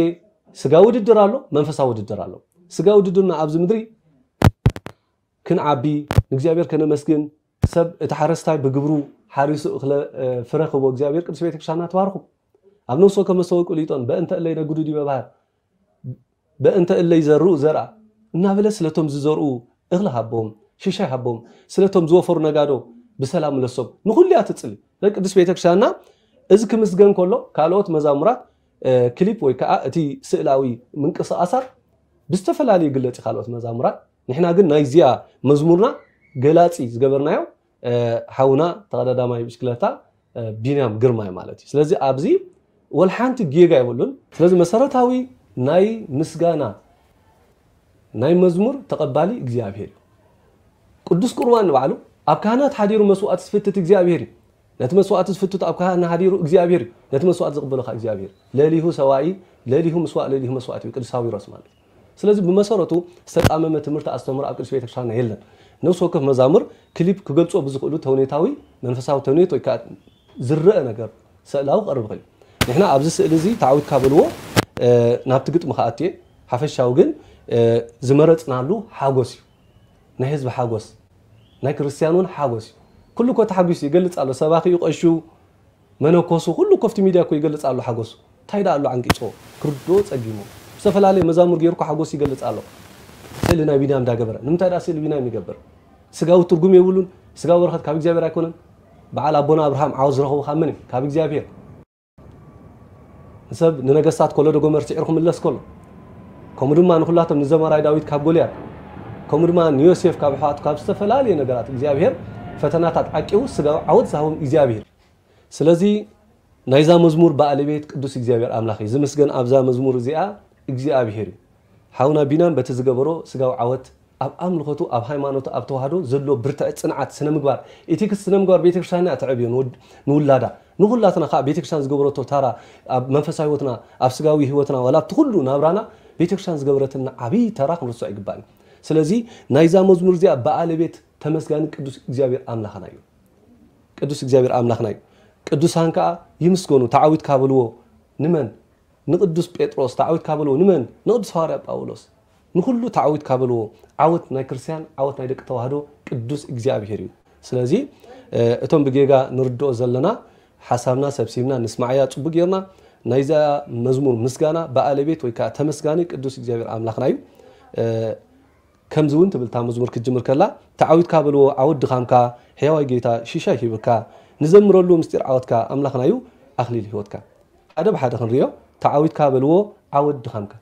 ስጋ ውድድር ኣሎ፣ መንፈሳዊ ውድድር ኣሎ። ስጋ ውድድርና ኣብዚ ምድሪ ክንዓቢ ንእግዚኣብሔር ከነመስግን ሰብ እቲ ሓረስታይ ብግብሩ ሓሪሱ እኽለ ፍረ ክቦ እግዚኣብሔር ቅዱስ ቤተክርስትያንና ትባርኹ። ኣብ ነፍሲ ወከፍ መሰወቁ ሊጦን በእንተ እለይ ነግዱ ዲበ ባህር በእንተ እለይ ዘርኡ ዘርኣ እናበለ ስለቶም ዝዘርኡ እኽሊ ሃቦም ሽሻይ ሃቦም ስለቶም ዝወፈሩ ነጋዶ ብሰላም ምለሶም ንኹሉ እያ ትጽሊ። ቅድስት ቤተክርስትያንና እዚ ክምስገን ከሎ ካልኦት መዛሙራት ክሊፕ ወይ ከዓ እቲ ስእላዊ ምንቅስቃሳት ብዝተፈላለዩ ይግለጽ ካልኦት መዛሙራት። ንሕና ግን ናይዚኣ መዝሙርና ገላጺ ዝገበርናዮ ሓውና ተቐዳዳማይ ብሽክለታ ቢንያም ግርማይ ማለት እዩ። ስለዚ ኣብዚ ወልሓንቲ ጌጋ የብሉን። ስለዚ መሰረታዊ ናይ ምስጋና ናይ መዝሙር ተቐባሊ እግዚኣብሔር እዩ። ቅዱስ ቁርባን ንባዕሉ ኣብ ካህናት ሓዲሩ መስዋእቲ ዝፍትት እግዚኣብሔር እዩ። ነቲ መስዋእቲ ዝፍትት ኣብ ካህን ሓዲሩ እግዚኣብሔር እዩ። ነቲ መስዋእቲ ዝቕበሎ ከዓ እግዚኣብሔር። ለሊሁ ሰዋኢ፣ ለሊሁ ምስዋእ፣ ለሊሁ መስዋእቲ እዩ ቅዱስ ሳዊሮስ ማለት። ስለዚ ብመሰረቱ ዝተጣመመ ትምህርቲ ኣስተምህሮ ኣብ ቅዱስ ቤተክርስትያንና የለን። ነፍሲ ወከፍ መዛሙር ክሊፕ ክገልጾ ብዝኽእሉ ተውኔታዊ መንፈሳዊ ተውኔት ወይ ከዓ ዝረአ ነገር ስእላዊ ክቐርብ ይኽእል እዩ። ንሕና ኣብዚ ስእሊ እዚ ተዓዊትካ በልዎ፣ ናብቲ ግጥሚ ክኣትየ ሓፈሻዊ ግን ዝመረፅናሉ ሓጎስ እዩ። ናይ ህዝቢ ሓጎስ፣ ናይ ክርስትያን እውን ሓጎስ እዩ። ኩሉ እኮ ተሓጒሱ ይገልፅ ኣሎ። ሰባኺ እዩ፣ ቀሹ፣ መነኮሱ፣ ኩሉ እኮ ኣብቲ ሚድያ እኮ ይገልፅ ኣሎ ሓጎሱ። እንታይ ደኣ ኣሎ ዓንቂፅዎ? ክርድኦ ፀጊሙ። ዝተፈላለየ መዛሙር ገይሩ እኮ ሓጎስ ይገልፅ ኣሎ። ስእሊ ናይ ቢንያም እንዳገበረ። ንምንታይ ደኣ ስእሊ ቢንያም ይገብር? ስጋዊ ትርጉም የብሉን። ስጋዊ በረኸት ካብ እግዚኣብሔር ኣይኮነን። በዓል ኣቦና ኣብርሃም ዓወት ዝረኸቡ ካብ መን እዩ? ካብ እግዚኣብሔር። ንሰብ ንነገስታት ኮሎዶ ጎመር ስዒሩ ክምለስ ከሎ፣ ከምኡ ድማ ንኹላቶም ንዘማራይ ዳዊት ካብ ጎልያድ፣ ከምኡ ድማ ንዮሴፍ ካብ ኣሕዋቱ ካብ ዝተፈላለየ ነገራት እግዚኣብሔር ፈተናታት ዓቂቡ ስጋዊ ዓወት ዝሃቦም እግዚኣብሔር። ስለዚ ናይዛ መዝሙር ባለቤት ቅዱስ እግዚኣብሔር ኣምላኽ እዩ። ዝምስገን ኣብዛ መዝሙር እዚኣ እግዚኣብሔር እዩ። ሓውና ቢናም በቲ ዝገበሮ ስጋዊ ዓወት ኣብ ኣምልኾቱ፣ ኣብ ሃይማኖቱ፣ ኣብ ተዋህዶ ዘሎ ብርትዐ፣ ጽንዓት፣ ስነ ምግባር፣ ኢቲክስ ስነ ምግባር ቤተክርስትያንና እያ ተዕብዮ ንወድ-፣ ንውላዳ። ንኹላትና ከዓ ቤተክርስትያን ዝገበረቶ ተራ ኣብ መንፈሳዊ ህይወትና፣ ኣብ ስጋዊ ህይወትና፣ ዋላ ኣብቲ ኩሉ ናብራና ቤተክርስትያን ዝገበረትና ዓብዪ ተራ ክንርስዖ ኣይግባእን። ስለዚ ናይዛ መዝሙር እዚኣ ባለቤት ተመስጋኒ ቅዱስ እግዚኣብሔር ኣምላኽና እዩ። ቅዱስ እግዚኣብሔር ኣምላኽና እዩ። ቅዱሳን ከዓ ይምስገኑ፣ ተዓዊትካ በልዎ። ንመን? ንቅዱስ ጴጥሮስ። ተዓዊትካ በልዎ። ንመን? ንቅዱስ ሃዋርያ ጳውሎስ። ንኹሉ ተዓዊትካ በልዎ። ዓወት ናይ ክርስትያን፣ ዓወት ናይ ደቂ ተዋህዶ ቅዱስ እግዚኣብሔር እዩ። ስለዚ፣ እ፣ እቶም ብጌጋ ንርድኦ ዘለና ሓሳብና ሰብሲብና ንስማዓያ ጽቡቅ ጌርና። ናይዛ መዝሙር ምስጋና ባለቤት ወይ ከዓ ተመስጋኒ ቅዱስ እግዚኣብሔር ኣምላኽና እዩ። እ፣ ከምዚ እውን ትብል እታ መዝሙር ክትጅምር ከላ፣ ተዓዊትካ በልዎ ዓወት ድኻምካ፣ ሕያዋይ ጌታ ሽሻይ ሂብካ፣ ንዘምረሉ ምስጢር ዓወትካ፣ ኣምላኽና እዩ ኣኽሊል ህይወትካ። ሓደ ብሓደ ክንሪኦ፣ ተዓዊትካ በልዎ ዓወት ድኻምካ።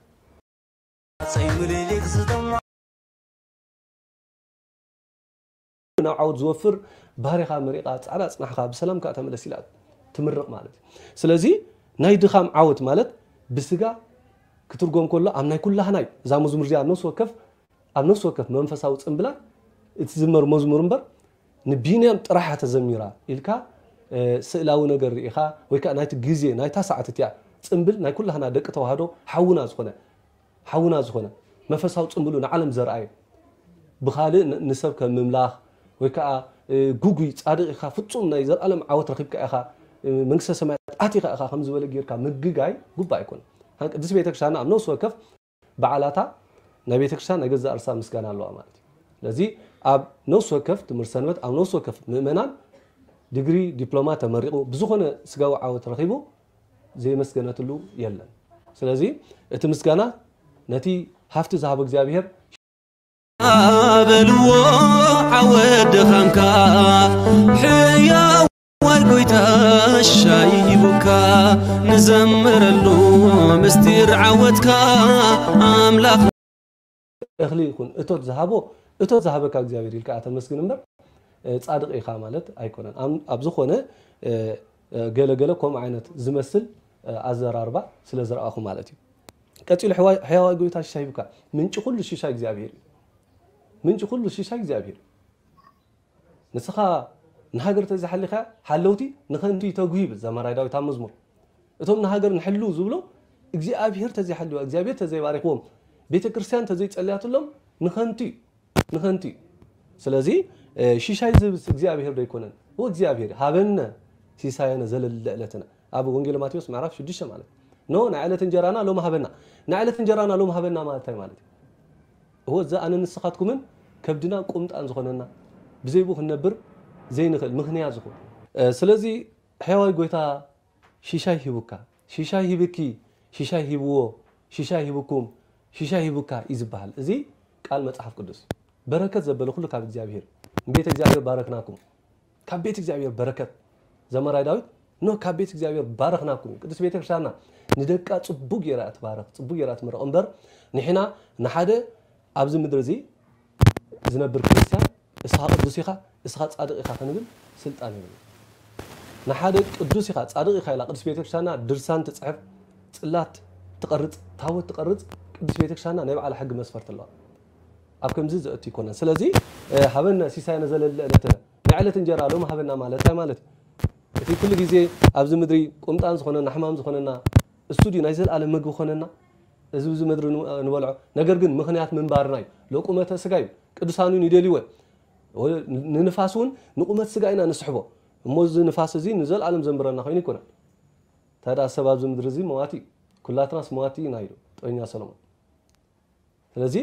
ናብ ዓወት ዝወፍር ባህሪኻ መሪቓ፣ ጻዕዳ ጽናሕኻ፣ ብሰላም ከኣ ተመለስ ኢላ ትምርቕ ማለት እዩ። ስለዚ ናይ ድኻም ዓወት ማለት ብስጋ ክትርጎም ከሎ ኣብ ናይ ኩላህናይ እዛ መዝሙር እዚኣ ነፍሲ ወከፍ ኣብ ነፍሲ ወከፍ መንፈሳዊ ጽምብላት እትዝመር መዝሙር እምበር ንቢንያም ጥራሓ ተዘሚራ ኢልካ፣ እ፣ ስእላዊ ነገር ርኢኻ ወይ ከኣ ናይቲ ግዜ ናይታ ሰዓት እቲኣ ጽምብል ናይ ኩላህና ደቂ ተዋህዶ ሓውና ዝኾነ፣ ሓውና ዝኾነ መንፈሳዊ ጽምብሉ ንዓለም ዘርኣየ ብኻልእ ን-፣ ንሰብ ከም ምምላኽ ወይ ከኣ፣ እ፣ ጉጉይ ጻድቕ ኢኻ፣ ፍጹም ናይ ዘልኣለም ዓወት ረኺብካ ኢኻ፣ እ፣ መንግስተ ሰማያት ኣቲኻ ኢኻ ከም ዝበለ ጌርካ ምግጋይ ጉባእ ኣይኮነን። ሃን ቅድስቲ ቤተክርስትያንና ኣብ ነፍሲ ወከፍ በዓላታ ናይ ቤተክርስትያን ናይ ገዛእ ርእሳ ምስጋና ኣለዋ ማለት እዩ። ስለዚ ኣብ ነፍሲ ወከፍ ትምህርቲ ሰንበት፣ ኣብ ነፍሲ ወከፍ ምእመናን ዲግሪ፣ ዲፕሎማ ተመሪቑ ብዝኾነ ስጋዊ ዓወት ረኺቡ ዘይመስገነትሉ የለን። ስለዚ እቲ ምስጋና ነቲ ሃፍቲ ዝሃቦ እግዚኣብሔር በልዎ ዓወት ድኻምካ ሕያዋይ ጎይታ ሻይ ሂቡካ ንዘምረሉ ምስጢር ዓወትካ ኣምላኽ እኽሊ ይኹን እቶት ዝሃቦ እቶት ዝሃበካ እግዚኣብሔር ኢልካ ተመስግን እምበር፣ እ፣ ጻድቕ ኢኻ ማለት ኣይኮነን። ኣም-፣ ኣብ ዝኾነ፣ እ፣ እ፣ ገለ ገለ ከምኡ ዓይነት ዝመስል፣ እ፣ ኣዘራርባ ስለ ዝረኣኹ ማለት እዩ። ቀጺሉ ሕዋ-፣ ሕያዋይ ጎይታ ሽሻይ ሂብካ። ምንጪ ኩሉ ሽሻይ እግዚኣብሔር እዩ። ምንጪ ኩሉ ሽሻይ እግዚኣብሔር እዩ። ንስኻ ንሃገር ተዘይሓሊኻ ሓለውቲ ንኸንቱ ይተግሁ ይብል ዘማራይ ዳዊት ኣብ መዝሙር። እቶም ንሃገር ንሕልው ዝብሎ እግዚኣብሔር ተዘይሓልዋ፣ እግዚኣብሔር ተዘይባሪኽዎም፣ ቤተ ክርስቲያን ተዘይጸልያትሎም ንኸንቱ እዩ፣ ንኸንቱ እዩ። ስለዚ፣ እ፣ ሽሻይ ዝህብስ እግዚኣብሔር ዶ ኣይኮነን? እወ እግዚኣብሔር፣ ሃበነ ሲሳየነ ዘለለ ዕለትነ። ኣብ ወንጌል ማቴዎስ ምዕራፍ ሽዱሽተ ማለት። ኖ፣ ናይ ዕለት እንጀራና ሎም ሃበና። ናይ ዕለት እንጀራና ሎም ሃበና ማለት እንታይ ማለት እዩ? እወ፣ እዚ ኣነ ንስኻትኩምን ከብድና ቁምጣን ዝኾነና፣ ብዘይቡ ክንነብር ዘይንኽእል ምኽንያት ዝኾነ። እ፣ ስለዚ ሕያዋይ ጎይታ ሽሻይ ሂቡካ፣ ሽሻይ ሂብኪ፣ ሽሻይ ሂብዎ፣ ሽሻይ ሂብኩም፣ ሽሻይ ሂቡካ እዩ ዝበሃል። እዚ ቃል መጽሓፍ ቅዱስ። በረከት ዘበለ ኩሉ ካብ እግዚኣብሔር። ቤተ እግዚኣብሔር ባረክናኩም። ካብ ቤት እግዚኣብሔር በረከት። ዘማራይ ዳዊት፣ ኖ ካብ ቤት እግዚኣብሔር ባረክናኩም። ቅዱስ ቤተ ክርስቲያንና ንደቃ ጽቡቅ ጌራ ትባረክ፣ ጽቡቅ ጌራ ትምረቕ እምበር፣ ንሕና ንሓደ ኣብዚ ምድሪ እዚ ዝነብር ክርስቲያን፣ እስኻ ቅዱስ ኢኻ፣ እስኻ ጻድቕ ኢኻ ክንብል ስልጣን የብልና። ንሓደ ቅዱስ ኢኻ፣ ጻድቕ ኢኻ ኢላ ቅዱስ ቤተ ክርስቲያንና ድርሳን ትጽሕፍ፣ ጽላት ትቐርጽ፣ ታቦት ትቐርጽ፣ ቅዱስ ቤተ ክርስቲያንና ናይ ባዕላ ሕጊ መስፈርት ኣለዋ። ኣብ ከምዚ ዘእቱ ኣይኮነን። ስለዚ ሃበነ ሲሳየነ ዘለለ ዕለተ፣ ናይ ዕለት እንጀራ ሎም ሃበና ማለት እንታይ ማለት እዩ? እቲ ኩሉ ግዜ ኣብዚ ምድሪ ቁምጣን ዝኾነና ሕማም ዝኾነና እሱ ድዩ ናይ ዘለኣለም ምግቢ ኮነና? እዚ ኣብዚ ምድሪ ንበልዖ ነገር ግን ምኽንያት ምንባርና እዩ። ለቁመተ ስጋ እዩ። ቅዱሳን እውን ይደልይዎ። ንንፋስ እውን ንቁመት ስጋ ኢና ንስሕቦ። እሞ እዚ ንፋስ እዚ ንዘለኣለም ዘንብረና ኮይኑ ኣይኮነን። ታዲያ ሰብ ኣብዚ ምድሪ እዚ መዋቲ እዩ። ኩላትናስ መዋቲ ኢና ኢሉ ጥበኛ ሰሎሞን። ስለዚ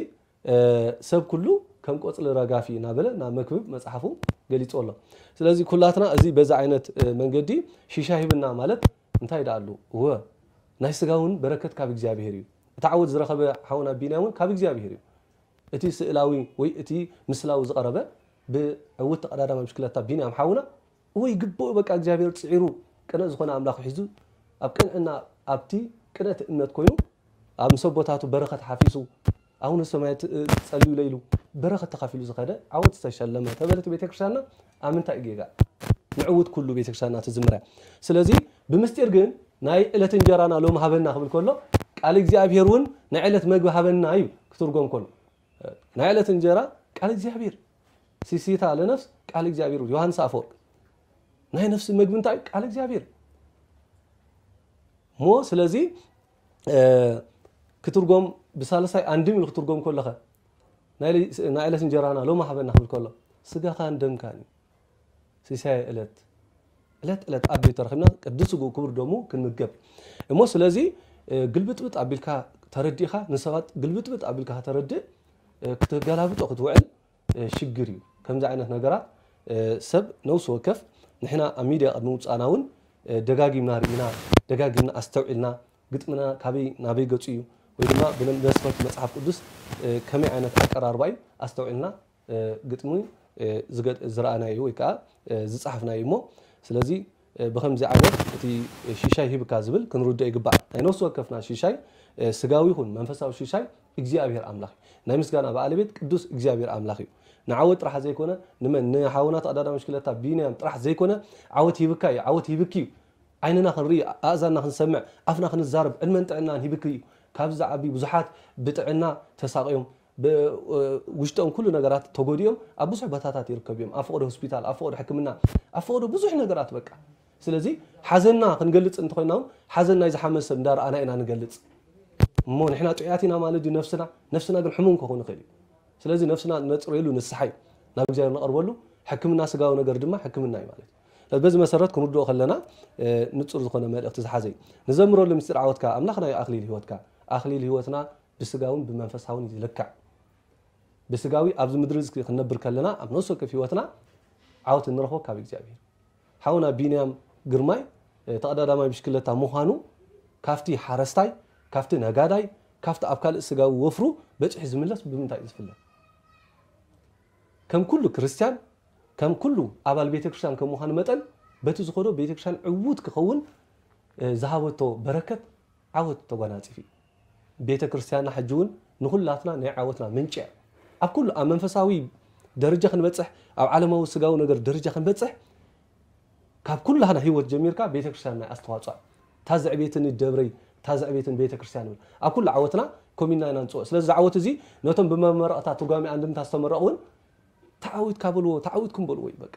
ሰብ ኩሉ ከም ቆፅሊ ረጋፊ እናበለ ናብ መክብብ መፅሓፉ ገሊፁ ኣሎ። ስለዚ ኩላትና እዚ በዚ ዓይነት መንገዲ ሽሻይ ሂብና ማለት እንታይ ደኣ ኣሉ? እወ ናይ ስጋ እውን በረከት ካብ እግዚኣብሔር እዩ። እቲ ዓወት ዝረኸበ ሓውና ቢንያም እውን ካብ እግዚኣብሔር እዩ። እቲ ስእላዊ ወይ እቲ ምስላዊ ዝቐረበ ብዕውት ተቐዳዳማይ ብሽክለታ ቢንያም ሓውና እወ ይግብኦ በቃ እግዚኣብሔር ፅዒሩ ቅነ ዝኾነ ኣምላኽ ሒዙ ኣብ ቅንዕና ኣብቲ ቅነቲ እምነት ኮይኑ ኣብ ምስ ኣቦታቱ በረኸት ሓፊሱ ኣቡነ ሰማያት ጸልዩለ ኢሉ በረኸት ተኻፊሉ ዝኸደ ዓወት ዝተሸለመ ተበለት ቤተክርስትያንና ኣብ ምንታይ እዩ ጌጋ? ንዕውት ኩሉ ቤተክርስትያንና ትዝምረ። ስለዚ ብምስጢር ግን ናይ ዕለት እንጀራና ሎም ሃበና ክብል ከሎ ቃል እግዚኣብሔር እውን ናይ ዕለት መግቢ ሃበና እዩ ክትርጎም ከሎ ናይ ዕለት እንጀራ ቃል እግዚኣብሔር ሲሲታ ለነፍስ ቃል እግዚኣብሔር ዮሃንስ ኣፈወርቅ ናይ ነፍሲ መግቢ እንታይ ቃል እግዚኣብሔር ሞ ስለዚ ክትርጎም ብሳልሳይ ኣንድም ኢሉ ክትርጎም ከለኸ ናይ ዕለት እንጀራና ሎም ሃበና ክብል ከሎ ስጋኻን ደምካን እዩ። ሲሳይ ዕለት ዕለት ዕለት ኣብ ቤት ተረኺብና ቅዱስ ስግኡ ክቡር ደሙ ክንምገብ እሞ ስለዚ ግልብጥብጥ ኣቢልካ ተረዲእካ ንሰባት ግልብጥብጥ ኣቢልካ ከተረድእ ክትገላብጦ ክትውዕል ሽግር እዩ። ከምዚ ዓይነት ነገራት ሰብ ነውሲ ወከፍ ንሕና ኣብ ሚድያ ቅድሚ ውፃእና እውን ደጋጊምና ርኢና ደጋጊምና ኣስተውዒልና ግጥምና ካበይ ናበይ ገፁ እዩ ወይ ድማ ብመስፈርት መፅሓፍ ቅዱስ ከመይ ዓይነት ኣቀራርባ እዩ ኣስተውዒልና ግጥሚ ዝረኣናዩ ወይ ከዓ ዝፀሓፍናዩ እሞ ስለዚ ብከምዚ ዓይነት እቲ ሽሻይ ሂብካ ዝብል ክንርድኦ ይግባእ። ናይ ነፍሲ ወከፍና ሽሻይ ስጋዊ ይኹን መንፈሳዊ ሽሻይ እግዚኣብሔር ኣምላኽ እዩ። ናይ ምስጋና በዓለቤት ቅዱስ እግዚኣብሔር ኣምላኽ እዩ። ንዓወት ጥራሕ ዘይኮነ ንመን ንሓውና ተቐዳዳሚ ሽክለታ ቢንያም ጥራሕ ዘይኮነ ዓወት ሂብካ እዩ ዓወት ሂብኪ እዩ። ዓይንና ክንርኢ ኣእዛንና ክንሰምዕ ኣፍና ክንዛረብ ዕድመን ጥዕናን ሂብኪ እዩ። ካብዚ ዝዓቢ ብዙሓት ብጥዕና ተሳቕዮም ውሽጦም ኩሉ ነገራት ተጎዲኦም ኣብ ብዙሕ ቦታታት ይርከቡ እዮም። ኣብ ፈቐዶ ሆስፒታል፣ ኣብ ፈቐዶ ሕክምና፣ ኣብ ፈቐዶ ብዙሕ ነገራት በቃ። ስለዚ ሓዘንና ክንገልጽ እንተኾይና እውን ሓዘን ናይ ዝሓመ ሰብ እንዳረኣና ኢና ንገልጽ። እሞ ንሕና ጥዑያት ኢና ማለት ድዩ ነፍስና? ነፍስና ግን ሕሙም ክኸውን ይኽእል እዩ። ስለዚ ነፍስና ነጽረየሉ ንስሓ እዩ። ናብ እግዚኣብሔር ንቐርበሉ ሕክምና ስጋዊ ነገር ድማ ሕክምና እዩ ማለት እዩ። በዚ መሰረት ክንርድኦ ከለና ንጹር ዝኾነ መልእኽቲ ዝሓዘ እዩ። ንዘምረሉ ምስጢር ዓወትካ ኣምላኽና እዩ ኣኽሊል ህይወትካ። ኣኽሊል ህይወትና ብስጋውን ብመንፈሳውን ይልካዕ። ብስጋዊ ኣብዚ ምድሪ እዚ ክንነብር ከለና ኣብ ነፍሲ ወከፍ ህይወትና ዓወት እንረኽቦ ካብ እግዚኣብሔር። ሓውና ቢንያም ግርማይ ተቐዳዳማይ ብሽክለታ ምዃኑ ካብቲ ሓረስታይ፣ ካብቲ ነጋዳይ፣ ካብቲ ኣብ ካልእ ስጋዊ ወፍሩ በፂሑ ዝምለስ ብምንታይ እዩ ዝፍለ? ከም ኩሉ ክርስትያን ከም ኩሉ ኣባል ቤተ ክርስቲያን ከም ምዃኑ መጠን በቲ ዝኸዶ ቤተ ክርስቲያን ዕዉት ክኸውን ዝሃበቶ በረከት ዓወት ተጓናፂፉ እዩ። ቤተ ክርስቲያንና ሕጂ እውን ንኹላትና ናይ ዓወትና ምንጪ እያ። ኣብ ኩሉ ኣብ መንፈሳዊ ደረጃ ክንበፅሕ ኣብ ዓለማዊ ስጋዊ ነገር ደረጃ ክንበፅሕ ካብ ኩላህና ህይወት ጀሚርካ ቤተ ክርስቲያንና ኣስተዋፅኦ እታ ዘዕቤትኒ ደብረይ እታ ዘዕቤትን ቤተ ክርስቲያን ንብል ኣብ ኩሉ ዓወትና ኮሚና ኢና ንፅኦ ስለዚ ዝዓወት እዚ ነቶም ብመመረቕታ ትርጓሜ ኣንድምታ ዝተመረቑ እውን ተዓዊትካ በልዎ ተዓዊትኩም በልዎ እዩ በቃ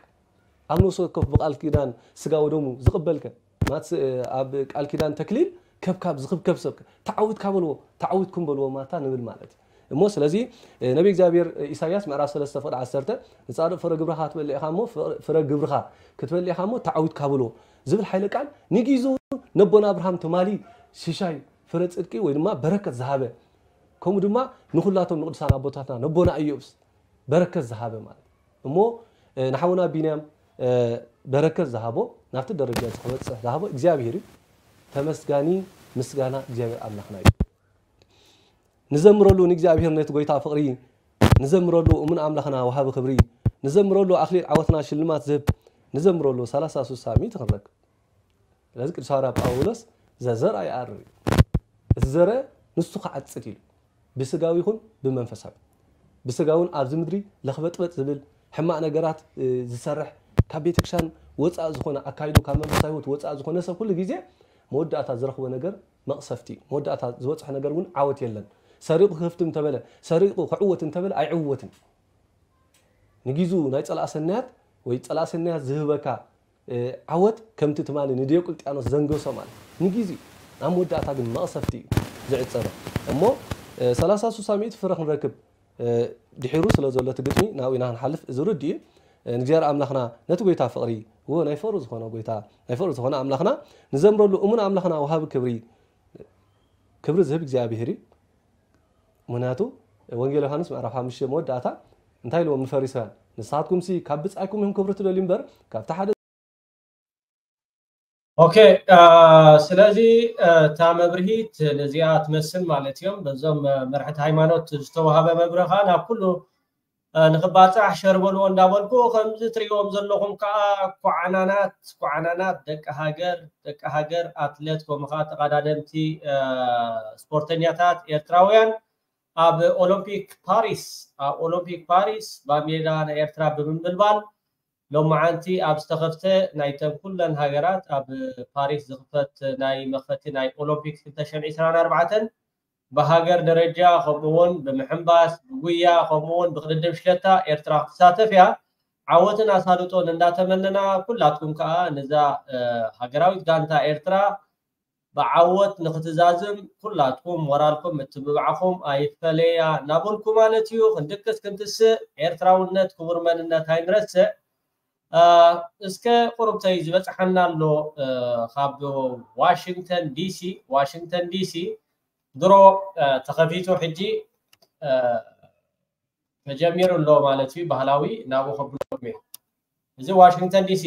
ኣብ ነፍሲ ወከፍ ብቃል ኪዳን ስጋ ወደሙ ዝቕበልከ ማት ኣብ ቃል ኪዳን ተክሊል ከብካብ ዝኽብከብ ሰብ ተዓዊትካ በልዎ ተዓዊትኩም በልዎ ማታ ንብል ማለት እዩ እሞ ስለዚ ነቢ እግዚኣብሔር ኢሳያስ ምዕራፍ ሰለስተ ፍቕዲ ዓሰርተ ንጻድቕ ፍረ ግብርኻ ክትበልዕ ኢኻ እሞ ፍረ ግብርኻ ክትበልዕ ኢኻ እሞ ተዓዊትካ በልዎ ዝብል ሓይለ ቃል ንጊዙ ነቦና ኣብርሃም ትማሊ ሽሻይ ፍረ ጽድቂ ወይ ድማ በረከት ዝሃበ ከምኡ ድማ ንኹላቶም ንቅዱሳን ኣቦታትና ነቦና ኢዮብስ በረከት ዝሃበ ማለት እሞ ንሓውና ቢንያም በረከት ዝሃቦ ናብቲ ደረጃ እዚ ክበፅሕ ዝሃቦ እግዚኣብሔር እዩ። ተመስጋኒ ምስጋና እግዚኣብሔር ኣምላኽና እዩ። ንዘምረሉ ንእግዚኣብሔር ነቲ ጎይታ ፍቕሪ ንዘምረሉ እሙን ኣምላኽና ወሃቢ ክብሪ ንዘምረሉ ኣኽሊል ዓወትና ሽልማት ዝህብ ንዘምረሉ ሰላሳ ሱሳ ሚእቲ ክንረክብ ስለዚ ቅዱስ ሃዋርያ ጳውሎስ ዘዘርኣ ይኣርር እዩ። እቲ ዘረ ንሱ ክዓጽድ ኢሉ ብስጋዊ ይኹን ብመንፈሳዊ ብስጋውን ኣብዚ ምድሪ ለኽበጥበጥ ዝብል ሕማቕ ነገራት ዝሰርሕ ካብ ቤተክርስትያን ወፃእ ዝኾነ ኣካይዱ ካብ መንፈሳዊ ህይወት ወፃእ ዝኾነ ሰብ ኩሉ ግዜ መወዳእታ ዝረኽቦ ነገር መቕሰፍቲ እዩ። መወዳእታ ዝበፅሖ ነገር እውን ዓወት የለን። ሰሪቑ ክህፍትም እንተበለ፣ ሰሪቑ ክዕወት እንተበለ ኣይዕወትን። ንጊዙ ናይ ጸላእ ሰናያት ወይ ጸላእ ሰናያት ዝህበካ ዓወት ከምቲ ትማሊ ንዲዮቅልጥያኖስ ዘንገሶ ማለት ንጊዜኡ፣ ኣብ መወዳእታ ግን መቕሰፍቲ እዩ ዝዕጸበ። እሞ ሰላሳ ስሳ ሚእቲ ፍረ ክንረክብ ድሒሩ ስለ ዘሎ እቲ ግጥሚ ናብኡ ኢና ክንሓልፍ እዚ ርድእ እዩ። ንእግዚኣብሔር ኣምላኽና ነቲ ጎይታ ፍቕሪ፣ እዎ ናይ ፍቕሪ ዝኾነ ጎይታ፣ ናይ ፍቕሪ ዝኾነ ኣምላኽና ንዘምረሉ እሙን ኣምላኽና ወሃቢ ክብሪ፣ ክብሪ ዝህብ እግዚኣብሔር እዩ። ምኽንያቱ ወንጌል ዮሃንስ ምዕራፍ ሓሙሽተ መወዳእታ እንታይ ኢልዎም ንፈሪሳውያን? ንስኻትኩምሲ ካብ ብጻይኩም ኢኹም ክብሪ ትደልዩ እምበር ካብቲ ሓደ ኦኬ ስለዚ እታ መብርሂት ነዚኣ ትመስል ማለት እዮም። በዞም መርሕቲ ሃይማኖት ዝተዋሃበ መብርሂ ከዓ ናብ ኩሉ ንክባፃሕ ሸር በልዎ እንዳበልኩ ከምዚ ትሪእዎም ዘለኹም ከዓ ኳዓናናት ኳዓናናት ደቂ ሃገር ደቂ ሃገር ኣትሌት ከምኡ ከዓ ተቐዳደምቲ ስፖርተኛታት ኤርትራውያን ኣብ ኦሎምፒክ ፓሪስ ኣብ ኦሎምፒክ ፓሪስ ባንዴራ ናይ ኤርትራ ብምምልባል ሎማዓንቲ ኣብ ዝተኸፍተ ናይተን ኩለን ሃገራት ኣብ ፓሪስ ዝኽፈት ናይ መኽፈቲ ናይ ኦሎምፒክ ክልተ ሽሕን ዕስራን ኣርባዕተን ብሃገር ደረጃ ከምኡ እውን ብምሕንባስ ብጉያ ከምኡ እውን ብቅድድም ሽለታ ኤርትራ ክትሳተፍ እያ። ዓወትን ኣሳልጦን እንዳተመነና ኩላትኩም ከዓ ነዛ ሃገራዊት ጋንታ ኤርትራ ብዓወት ንክትዛዝም ኩላትኩም ሞራልኩም ምትብባዕኹም ኣይፈለያ እናበልኩ ማለት እዩ። ክንድቅስ ክንትስእ ኤርትራውነት ክቡር መንነት ኣይንረስዕ። እስከ ቁሩብተይ ዝበፅሓና ኣሎ ካብ ዋሽንግተን ዲሲ ዋሽንግተን ዲሲ ድሮ ተኸፊቱ ሕጂ ተጀሚሩ ኣሎ ማለት እዩ። ባህላዊ ናብኡ ከብሎ እየ። እዚ ዋሽንግተን ዲሲ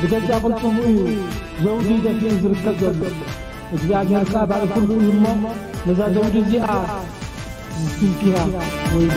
ብገዛ ቅልጽሙ እዩ ዘውዲ ደፊኡ ዝርከብ ዘሎ። እግዚኣብሔር ከኣ ባሪኹ ልኡል እሞ ነዛ ዘውዲ እዚኣ ዝትንክያ ወይሉ።